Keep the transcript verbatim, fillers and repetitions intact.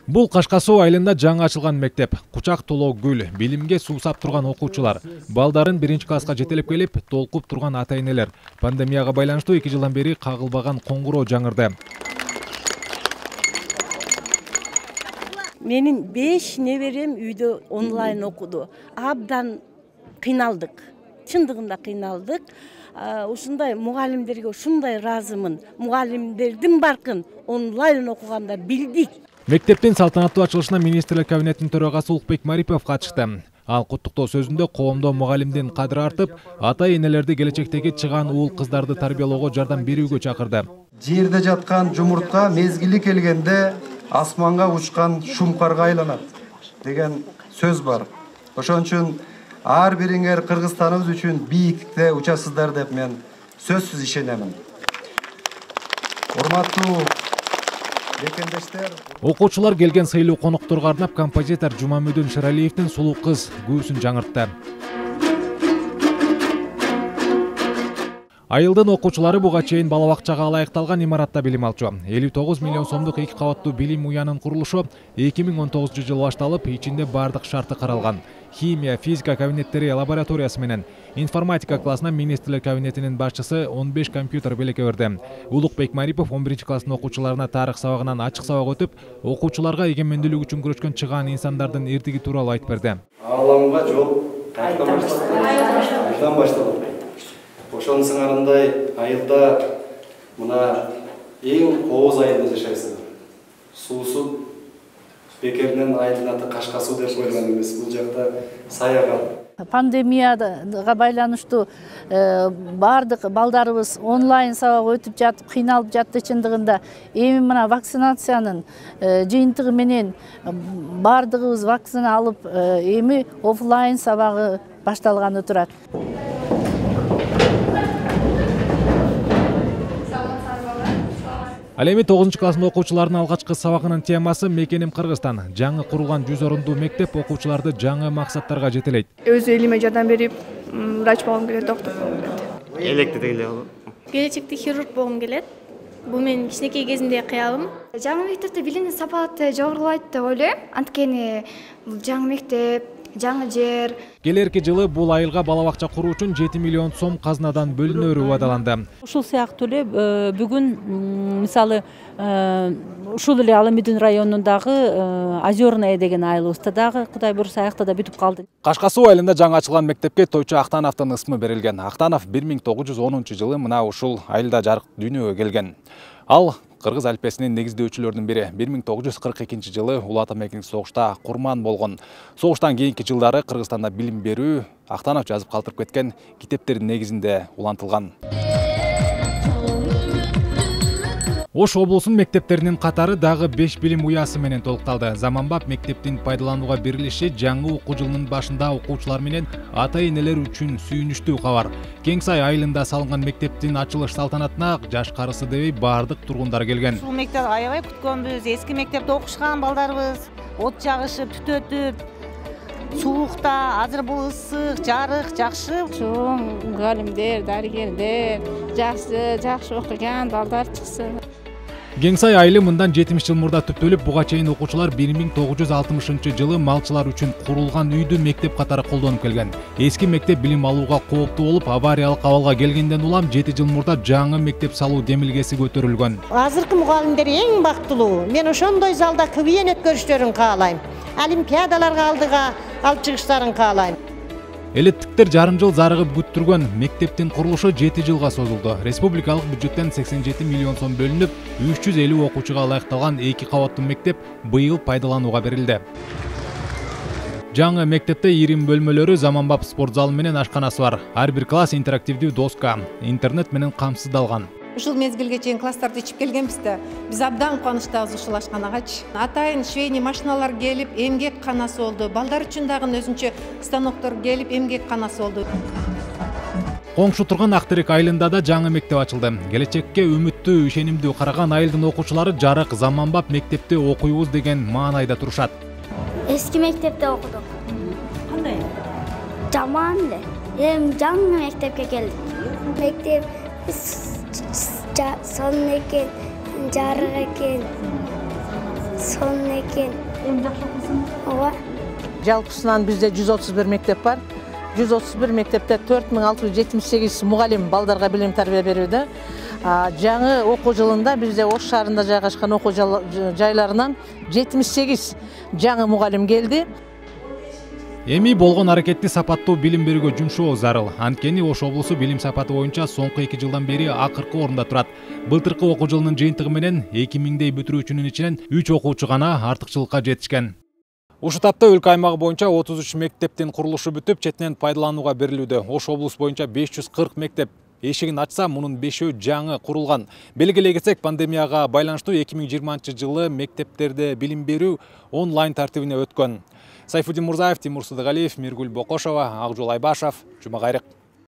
Бул Кашка Суу айылында жаңы ачылган мектеп. Кучак толоо гүл, билимге суусап турган окуучулар, балдарын биринчи класска жетелеп келип, толкуп турган ата-энелер. Пандемияга байланыштуу эки жылдан бери кагылбаган коңгуроо жаңырды. Менин беш неберем үйдө онлайн окуду. Абдан кыйналдык. Чындыгында кыйналдык. Ушундай мугалимдерге ушундай ыраазымын. Мугалимдердин баркын онлайн окугандар билдик. Мектептин салтанаттуу ачылышына министрлер кабинетинин төрагасы Улукбек Марипов катышты. Ал куттуктоо сөзүндө коомдо мугалимдин кадыры артып, ата-энелерди келечектеги чыгаан уул кыздарды тарбиялоого жардам берүүгө чакырды. Жерде жаткан жумуртка мезгили келгенде асманга учкан шумкарга айланат деген сөз бар. Ошон үчүн ар бириңер Кыргызстаныбыз үчүн бийиктикте учасыздар деп мен сөзсүз ишенемин. Урматтуу окуучулар келген сыйлуу конокторго арнап композитор Жумамөдүн Шералиевдин Сулуу кыз күүсүн жаңыртты. Айылдын окуучулары буга чейин бала бакчага ылайыкталган имаратта билим алчу. элүү тогуз миллион сомдук эки кабаттуу билим уянын курулушу эки миң он тогузунчу жылы башталып, ичинде бардык шарты каралган. Химия, физика кабинеттери, лабораториясы менен информатика классына министрлер кабинетинин башчысы он беш компьютер белекке берди. Улукбек Марипов он биринчи класстын окуучуларына тарых сабагынан ачык сабак өтүп, окуучуларга эгемендүүлүк үчүн күрөшкөн чыгаан инсандардын эрдиги тууралуу айтып берди. Ааламга жол кайдан башталды. Ошонун сыңарындай айылда мына эң кооз айылда жашайсыңар. Суусу бекеринен айылдын аты Кашка Суу деп коюлган эмес. Бул жакта саягат. Пандемияга байланыштуу бардык балдарыбыз онлайн сабак өтүп жатып, кыйналып жатты чындыгында. Эми мына вакцинациянын жыйынтыгы менен бардыгыбыз вакцина алып, эми офлайн сабагы башталганы турат. Ал эми тогузунчу класстын окуучуларынын алгачкы сабагынын темасы Мекеним Кыргызстан. Жаңы курулган жүз орундуу мектеп окуучуларды жаңы максаттарга жетелейт. Өз элиме жардам берип, врач болгум келет, доктор болгум келет. Электе деле болот. Келечекте хирург болгум келет. Бул менин кичинекей кезимдеги кыялым. Жаңы мектепте билимдин сапаты жогорулайт деп ойлойм. Анткени бул жаңы мектеп, жаңы жер. Келерки жылы бул айылга бала бакча куруу үчүн жети миллион сом казынадан бөлүнөрү убадаланды. Ушул сыяктуу эле бүгүн мисалы ушул эле Аламидин районундагы Озерное деген айылыбызда дагы Кудай буюрса аякта да бүтүп калды. Кашка Суу айылында жаңы ачылган мектепке Тойчу Актановдун ысмы берилген. Актанов бир миң тогуз жүз онунчу жылы мына ушул айылда жарык дүйнөгө келген. Ал кыргыз алфавитинин негиздөөчүлөрүнүн бири. бир миң тогуз жүз кырк экинчи жылы Улуу Ата Мекенин согушта курман болгон. Согуштан кийинки жылдары Кыргызстанда билим берүү Актанов жазып калтырып кеткен китептердин негизинде улантылган. Ош облусунун мектептеринин катары дагы беш билим уясы менен толукталды. Заманбап мектептин пайдаланууга берилиши жаңы окуу жылынын башында окуучулар менен ата-энелер үчүн сүйүнүчтүү кабар. Кеңсай айылында салынган мектептин ачылыш салтанатына жаш карысы дебей бардык тургундар келген. Бул мектеп аябай күткөнбүз. Эски мектепте окушкан балдарыбыз от жагышып, түтөтүп, суукта, азыр бул ысык, жарык жакшы. Чоң мугалимдер, дарыгерлер, жакшы, жакшы окуган балдар чыксын. Кеңсай айылы мындан жетимиш жыл мурда түптөлүп, буга чейин окуучулар бир миң тогуз жүз алтымышынчы жылы малчылар үчүн курулган үйдү мектеп катары колдонуп келген. Эски мектеп билим алууга кооптуу болуп, авариялык абалга келгенден улам жети жыл мурда жаңы мектеп салуу демилгеси көтөрүлгөн. Азыркы мугалимдер эң бактылуу. Мен ошондой залда КВН өткөрүштөрүн каалайм. Олимпиадаларга алдыга алып чыгыштарын каалайм. Элеттиктер жарым жыл зарыгып күттүргөн мектептин курулушу жети жылга созулду. Республикалык бюджеттен сексен жети миллион сом бөлүнүп, үч жүз элүү окуучуга ылайыкталган эки кабаттуу мектеп быйыл пайдаланууга берилди. Жаңы мектепте ирим бөлмөлөрү, заманбап спорт залы менен ашканасы бар. Ар бир класс интерактивдүү доска, интернет менен камсыздалган. Ушул мезгилге чейин класстарды ичип келгенбиз да, биз абдан кубанычтабыз ушул ашканагачы. Атайын швейный машиналар келип, эмгек канасы болду. Балдар үчүн дагы өзүнчө станоктор келип, эмгек канасы болду. Коңшу турган Актерек айылында да жаңы мектеп ачылды. Келечекке үмүттүү, ишенимдүү караган айылдын окуучулары жарык, заманбап мектепте окуйбуз деген маанайда турушат. Эски мектепте окудук. Кандай? Жаман эле. Эми жаңы мектепке келдик. Мектеп сонун экен, жарык экен. сонун экен. Эми жакшы окуйсуң? Ооба. Жалпысынан бизде жүз отуз бир мектеп бар. жүз отуз бир мектепте төрт миң алты жүз жетимиш сегиз мугалим балдарга билим тарбия берүүдө. Жаңы окуу жылында бизде Ош шаарында жайгашкан окуу жайларынан жетимиш сегиз жаңы мугалим келди. Эми болгон аракетти сапаттуу билим берүүгө жумшоо зарыл. Анткени Ош облусу билим сапаты боюнча соңку эки жылдан бери акыркы орунда турат. Былтыркы окуу жылынын жыйынтыгы менен эки миңдей бүтүрүүчүнүн ичинен үч окуучу гана артыкчылыкка жетишкен. Ушул тапта өлкө аймагы боюнча отуз үч мектептин курулушу бүтүп, четинен пайдаланууга берилүүдө. Ош облус боюнча беш жүз кырк мектеп эшигин ачса, мунун бешөө жаңы курулган. Белгилей кетсек, пандемияга байланыштуу эки миң жыйырманчы жылы мектептерде билим берүү онлайн тартибине өткөн. Сайфуддин Мурзаев, Тимур Сыдыгалиев, Миргүл Бокошова, Акжол Айбашев, Жума кайрык.